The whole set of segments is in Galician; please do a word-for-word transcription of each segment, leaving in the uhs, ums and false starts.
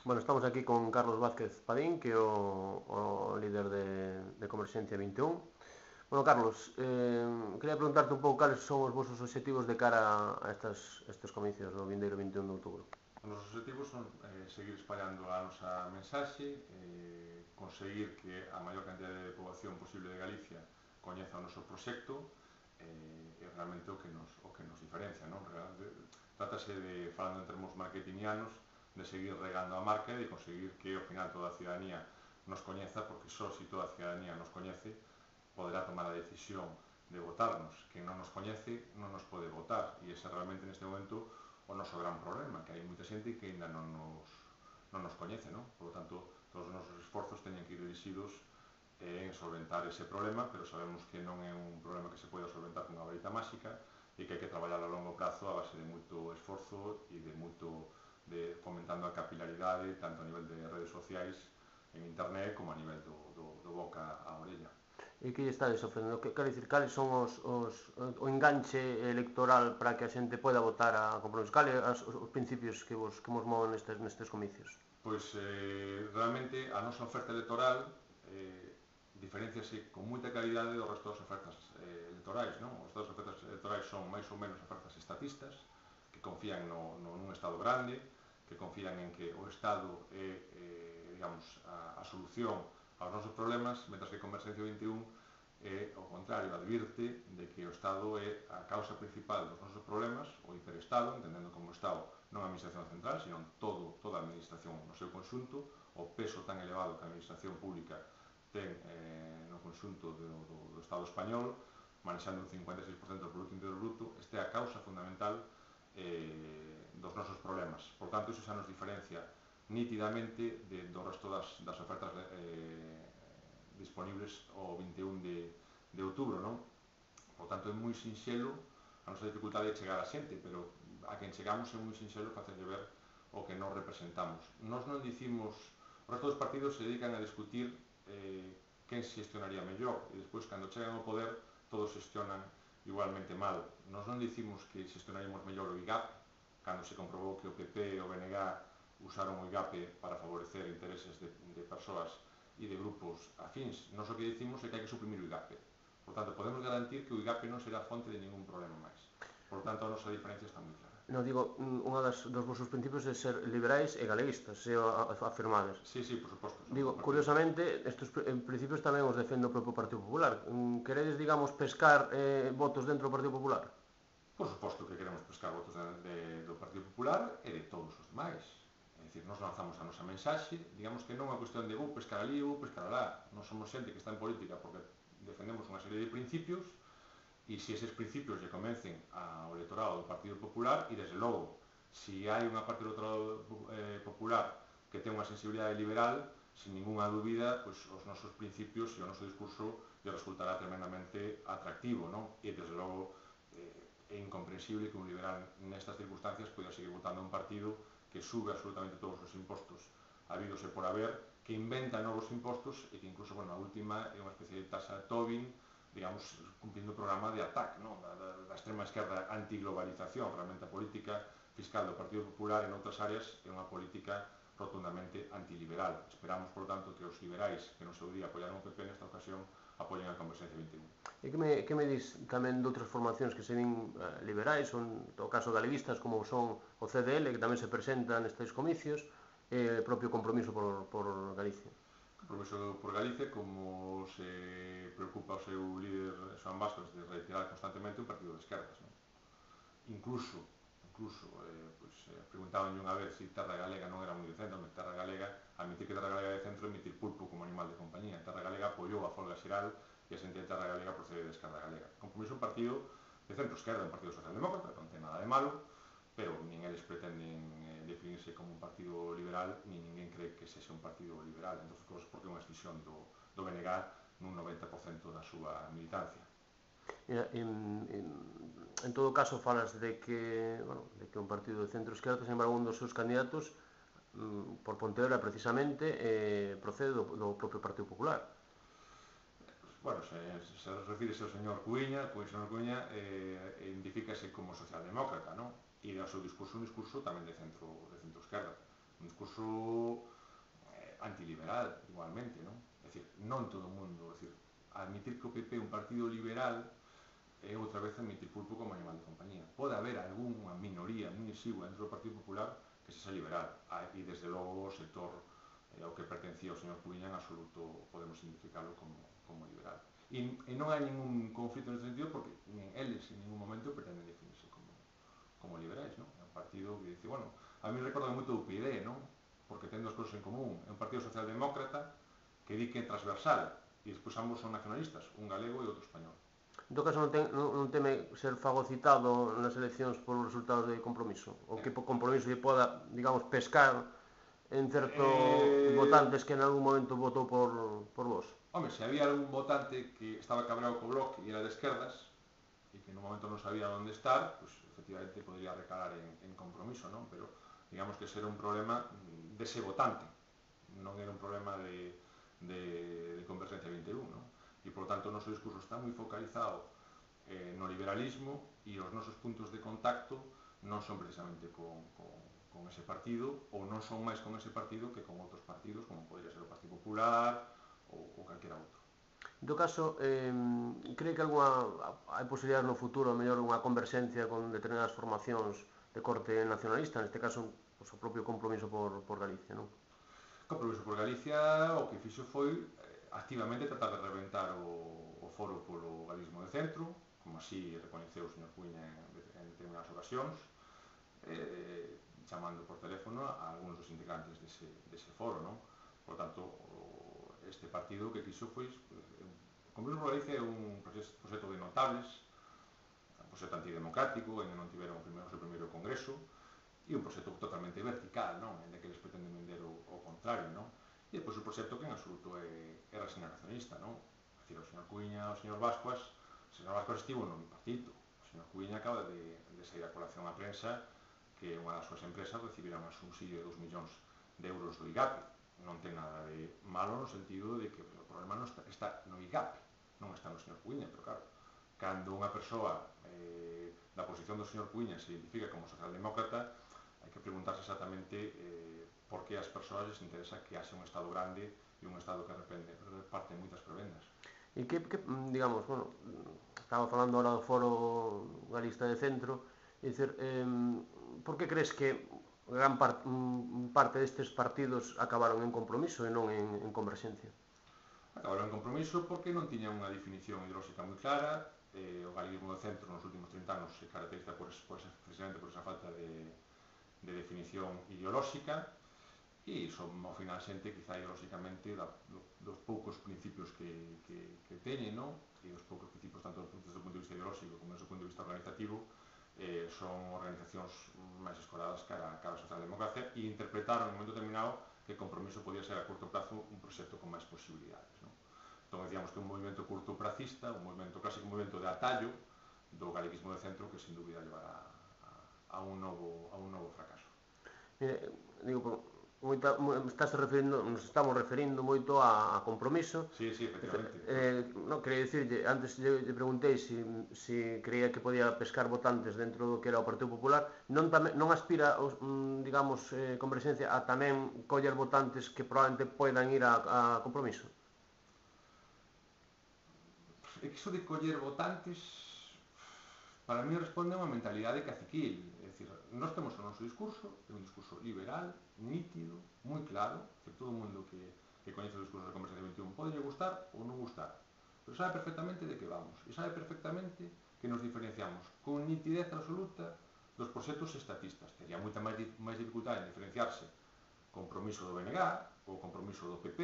Bueno, estamos aquí con Carlos Vázquez Padín, que é o, o líder de, de Converxencia vinte e un. Bueno, Carlos, eh, quería preguntarte un pouco cales son os vosos obxectivos de cara a estas, estes comicios do vindeiro vinte e un de outubro. Os nosos objetivos son eh, seguir espallando a nosa mensaxe, eh, conseguir que a maior cantidade de poboación posible de Galicia coñeza o noso proxecto, eh, e realmente o que nos, o que nos diferencia, non? Trátase de, falando en termos marketingianos, de seguir regando a marca e de conseguir que ao final toda a ciudadanía nos coñeza, porque só se toda a ciudadanía nos coñece poderá tomar a decisión de votarnos. Quen non nos coñece non nos pode votar, e ese realmente neste momento o noso gran problema, que hai moita xente que ainda non nos, non nos coñece, non? Por lo tanto, todos os nosos esforzos teñen que ir dirixidos en solventar ese problema, pero sabemos que non é un problema que se pode solventar con unha varita máxica e que hai que traballar a longo prazo a base de moito esforzo e de moito de fomentando a capilaridade tanto a nivel de redes sociais en internet como a nivel do, do, do boca a orella. E que lle estades ofrecendo? Que, quero dicir, cales son os, os, o enganche electoral para que a xente poda votar a compromiso? Cales os, os principios que vos, que vos moven nestes, nestes comicios? Pois eh, realmente a nosa oferta electoral eh, diferenciase con moita calidade do resto das ofertas eh, electorais, non? Os das ofertas electorais son máis ou menos ofertas estatistas, que confían no, no, nun Estado grande, que confían en que o Estado é, eh, digamos, a, a solución aos nosos problemas, mentras que Converxencia vinte e un é, ao contrario, advirte de que o Estado é a causa principal dos nosos problemas, o hiperestado, entendendo como o Estado non a administración central, sino todo, toda a administración no seu conxunto, o peso tan elevado que a administración pública ten eh, no conxunto do, do, do Estado español, manexando un cincuenta e seis por cento do Producto Interior Bruto, este é a causa fundamental eh, dos nosos problemas. Por tanto, iso xa nos diferencia nítidamente de, do resto das, das ofertas eh, disponibles o vinte e un de, de outubro, non? Por tanto, é moi sinxelo, a nosa dificultade é chegar a xente, pero a quen chegamos é moi sinxelo facerlle ver o que nos representamos. Nos non dicimos, os resto dos partidos se dedican a discutir eh, quen xestionaría mellor, e despois, cando chegan ao poder, todos xestionan igualmente mal. Nos non dicimos que xestionaríamos mellor o I G A P, cando se comprobou que o P P e o B N G usaron o I G A P para favorecer intereses de, de persoas e de grupos afíns. Nos o que dicimos é que hai que suprimir o I G A P. Por tanto, podemos garantir que o I G A P non será fonte de ningún problema máis. Por tanto, a nosa diferencia está moi clara. Non, digo, unha das, dos vosos principios é ser liberais e galeguistas, se afirmades. Sí, sí, por suposto. Digo, curiosamente, estes principios tamén os defende o propio Partido Popular. Queredes, digamos, pescar eh, votos dentro do Partido Popular? Por suposto que queremos pescar votos de, de, do Partido Popular e de todos os demais. É dicir, nos lanzamos a nosa mensaxe, digamos que non é unha cuestión de vou pescar ali ou pescar alá. Non somos xente que está en política porque defendemos unha serie de principios, e se eses principios lle convencen ao electorado do Partido Popular, e desde logo, se hai unha parte do electorado eh, popular que ten unha sensibilidade liberal, sin ninguna dúbida, pues, os nosos principios e o noso discurso lle resultará tremendamente atractivo, non? E desde logo eh, é incomprensible que un liberal nestas circunstancias poida seguir votando a un partido que sube absolutamente todos os impostos habidos e por haber, que inventa novos impostos e que incluso, bueno, a última é unha especie de taxa Tobin, digamos, cumplindo o programa de ataque, ¿no? da, da, da extrema esquerda antiglobalización. Realmente a política fiscal do Partido Popular en outras áreas é unha política rotundamente antiliberal. Esperamos, por tanto, que os liberais que no seu día apoiaron o P P nesta ocasión apoien a Converxencia vinte e un. E que me, que me dis tamén de outras formacións que se din eh, liberais, son, no caso galeguistas, como son o C D L, que tamén se presenta nestes comicios, e eh, propio compromiso por, por Galicia? Compromiso por Galicia, como se preocupa o seu líder Xoán Bastos de retirar constantemente un partido de esquerdas, non? Incluso, incluso, eh, pues, eh, preguntaban unha vez se Terra Galega non era moi de centro, Terra Galega, admitir que Terra Galega é de centro, emitir pulpo como animal de compañía. Terra Galega apoiou a folga xeral e a xente de Terra Galega procede de Esquerda Galega. Compromiso un partido de centro-esquerda, un partido socialdemócrata, non ten nada de malo, pero nin eles pretenden eh, definirse como un partido liberal, nin ninguén cree que sexa un partido liberal, entre outras cosas porque é unha extinción do, do B N G nun noventa por cento da súa militancia. En, en, en todo caso falas de que, bueno, de que un partido de centro-esquerda, sin embargo, un dos seus candidatos mm, por Pontevedra precisamente eh, procede do, do propio Partido Popular. Bueno, se, se refírese ao señor Cuíña, pois o señor Cuíña eh, identifícase como socialdemócrata, non? E o seu discurso un discurso tamén de centro de centro-esquerda, un discurso discurso eh, antiliberal, igualmente, non? É dicir, non todo o mundo, é dicir, admitir que o P P é un partido liberal é outra vez admitir pulpo como animal de compañía. Pode haber algunha minoría moi exigua dentro do Partido Popular que se xa liberal, e desde logo o sector eh, ao que pertencía o señor Cubiña en absoluto podemos identificarlo como, como liberal. E, e non hai ningún conflito neste sentido porque nin eles en ningún momento pretenden definirse como, como liberais, non? É un partido que dice, bueno, a mí recorda moito o U P D, non? Porque ten dos cousas en común. É un partido socialdemócrata que di que é transversal e despois ambos son nacionalistas, un galego e outro español. En todo caso, non, ten, non, non teme ser fagocitado nas eleccións polos resultados de Compromiso? O que por Compromiso lle poda, digamos, pescar en certos eh... votantes que en algún momento votou por, por vos? Home, se había algún votante que estaba cabreado co Bloque e era de esquerdas e que no momento non sabía onde estar, pues efectivamente podría recalar en, en Compromiso, non? Pero digamos que ese era un problema dese votante, non era un problema de, de, de Convergencia vinte e un, non? E, por tanto, o noso discurso está moi focalizado eh, no liberalismo e os nosos puntos de contacto non son precisamente con, con, con ese partido ou non son máis con ese partido que con outros partidos como podría ser o Partido Popular ou, ou calquera outro. En todo caso, eh, cree que alguna, hai posibilidades no futuro, a mellor unha converxencia con determinadas formacións de corte nacionalista, neste caso pues, o propio Compromiso por, por Galicia, non? Compromiso por Galicia o que fixo foi activamente tratar de reventar o, o foro polo galismo de centro, como así reconheceu o señor Cuiña en, en determinadas ocasións, eh, chamando por teléfono a algúns dos integrantes dese, dese foro, non? Por tanto, o, este partido que quiso foi o Compromiso por Galicia é un proxecto de notables, un proxecto antidemocrático, en que non tiveron o, primeiro, o seu primeiro congreso, e un proxecto totalmente vertical, non? En que eles pretenden vender o, o contrario, non? E depois o proxecto que en absoluto é, é regeneracionista, non? É dicir, o señor Cuiña, o señor Vascuas, o señor Vascuas estivo no bipartito, o señor Cuiña acaba de, de sair a colación á prensa que unha das súas empresas recibirá un subsidio de dos millóns de euros do I G A P. Non ten nada de malo no sentido de que o problema non está, está no I G A P, non está no señor Cuiña, pero claro, cando unha persoa eh, da posición do señor Cuiña se identifica como socialdemócrata, hai que preguntarse exactamente eh, por que as persoas les interesa que haxe un Estado grande e un Estado que repende, reparte moitas prebendas. E que, que, digamos, bueno, estaba falando ahora do foro galista de centro, é dicir, eh, por que crees que gran part, parte destes partidos acabaron en Compromiso e non en, en Converxencia? Acabaron en Compromiso porque non tiñan unha definición ideolóxica moi clara, eh, o galeguismo do centro nos últimos trinta anos se caracteriza por, por, precisamente por esa falta de de definición ideolóxica e son ao final xente quizá ideolóxicamente da, do, dos poucos principios que, que, que teñen, non? E os poucos principios tanto desde o punto de vista ideolóxico como desde o punto de vista organizativo eh, son organizacións máis escoradas cara, cara a socialdemocracia e interpretaron en un momento determinado que Compromiso podía ser a curto prazo un proxecto con máis posibilidades, non? Entón decíamos que un movimento curtopracista, un movimento clásico, un movimento de atallo do galeguismo de centro que sin dúbida llevará a un novo, a un novo fracaso. Mire, digo, moita, estás referindo, nos estamos referindo moito a, a Compromiso. Sí, sí, efectivamente. Eh, no, quería dicirlle, antes lle, lle preguntei se si, si creía que podía pescar votantes dentro do que era o Partido Popular, non, tame, non aspira, digamos, eh, Converxencia a tamén coller votantes que probablemente poidan ir a, a Compromiso? É que iso de coller votantes para mí responde a unha mentalidade caciquil, é dicir, nós temos o noso discurso, é un discurso liberal, nítido, moi claro, que todo o mundo que, que coñece o discurso de Converxencia vinte e un pode gustar ou non gustar, pero sabe perfectamente de que vamos, e sabe perfectamente que nos diferenciamos con nitidez absoluta dos proxectos estatistas. Tería moita máis, máis dificultade en diferenciarse Compromiso do B N G, ou Compromiso do P P,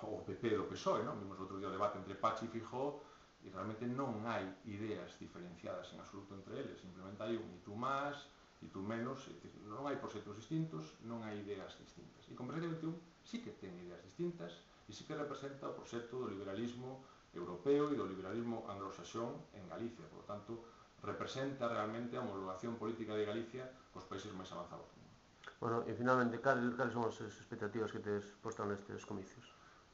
ou o P P do P S O E, non? Vimos outro día o debate entre Pachi e Fijó, e realmente non hai ideas diferenciadas en absoluto entre eles, simplemente hai un e tú máis, e tú menos, e non hai proxectos distintos, non hai ideas distintas. E Converxencia vinte e un sí que ten ideas distintas e sí que representa o proxecto do liberalismo europeo e do liberalismo anglosaxón en Galicia, por lo tanto, representa realmente a homologación política de Galicia cos países máis avanzados. Bueno, e finalmente, cales son as expectativas que tes posto nestes comicios?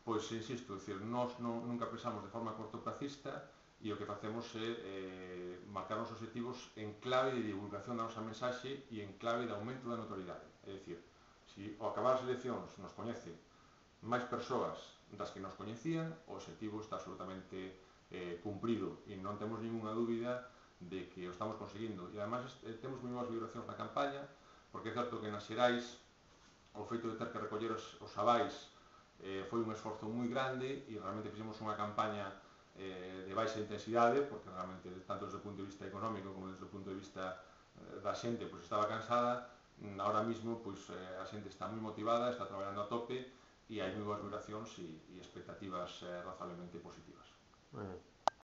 Pois, insisto, decir, nós non, nunca pensamos de forma cortoplacista e o que facemos é eh, marcar os objetivos en clave de divulgación da nosa mensaxe e en clave de aumento da notoriedade. É dicir, se se ao acabar as eleccións nos coñece máis persoas das que nos coñecían, o objetivo está absolutamente eh, cumprido e non temos ninguna dúbida de que o estamos conseguindo. E además eh, temos moi boas vibracións na campaña, porque é certo que nas Xerais o feito de ter que recoller os, os avais eh, foi un esforzo moi grande e realmente fixemos unha campaña eh, de baixa intensidade, porque realmente tanto desde o punto de vista económico como desde o punto de vista eh, da xente pois estaba cansada. Ahora mismo pois, eh, a xente está moi motivada, está traballando a tope e hai moi boas vibracións e, e expectativas eh, razonablemente positivas. Eh.